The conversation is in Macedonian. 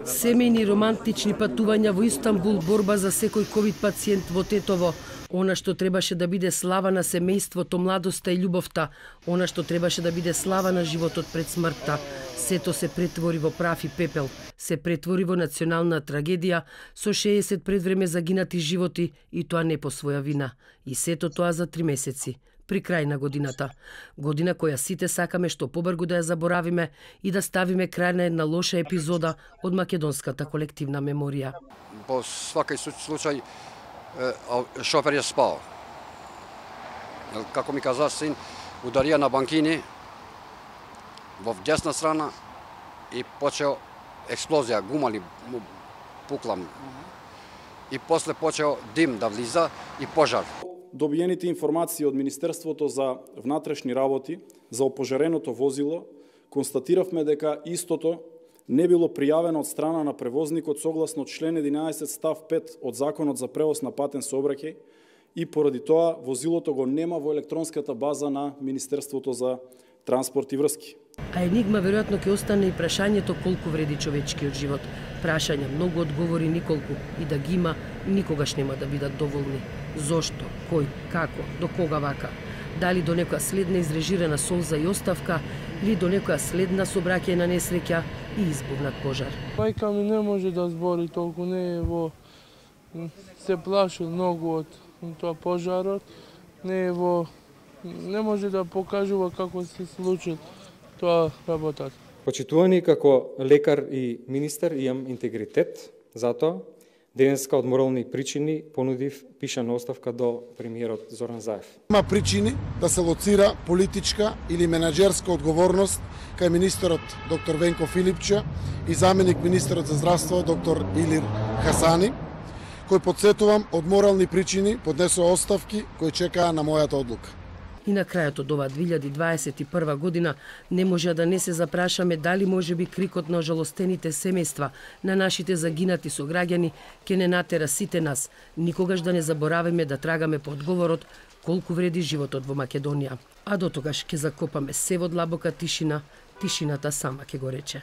Семејни романтични патувања во Истанбул, борба за секој ковид пациент во Тетово, она што требаше да биде слава на семејството, младоста и љубовта, она што требаше да биде слава на животот пред смртта, сето се претвори во прав и пепел, се претвори во национална трагедија со 60 предвреме загинати животи и тоа не по своја вина. И сето тоа за 3 месеци, при крај на годината. Година која сите сакаме што побрзо да ја заборавиме и да ставиме крај на една лоша епизода од македонската колективна меморија. По свакај случај шофер е спал. Како ми каза син, ударија на банкини во десна страна и почел експлозија, гумали пукла. И после почел дим да влиза и пожар. Добиените информации од Министерството за внатрешни работи за опожареното возило, констатиравме дека истото не било пријавено од страна на превозникот согласно член 11 став 5 од Законот за превоз на патен сообраќај и поради тоа возилото го нема во електронската база на Министерството за транспорт и врски. А енигма веројатно ќе остане и прашањето колку вреди човечкиот живот. Прашања, многу одговори николку, и да ги има, никогаш нема да бидат доволни. Зошто, кој, како, до кога вака? Дали до некоја следна изрежирана солза и оставка, или до некоја следна собраќајна несреќа и избухнат пожар? Мајка ми не може да збори толку, не е во... се плаши многу од тоа пожарот, не е во... не може да покажува како се случи тоа работата. Почитувани како лекар и министер, имам интегритет, затоа денеска од морални причини понудив пишана оставка до премиерот Зоран Заев. Има причини да се лоцира политичка или менаџерска одговорност кај министерот доктор Венко Филипче и заменик министерот за здравство доктор Илир Хасани, кој подсетувам од морални причини поднесува оставки кои чекаа на мојата одлука. И на крајот од оваа 2021 година не може да не се запрашаме дали може би крикот на ожалостените семејства, на нашите загинати сограѓани ќе не натера сите нас никогаш да не забораваме да трагаме по одговорот колку вреди животот во Македонија. А до тогаш ќе закопаме се во длабока тишина, тишината сама ќе го рече.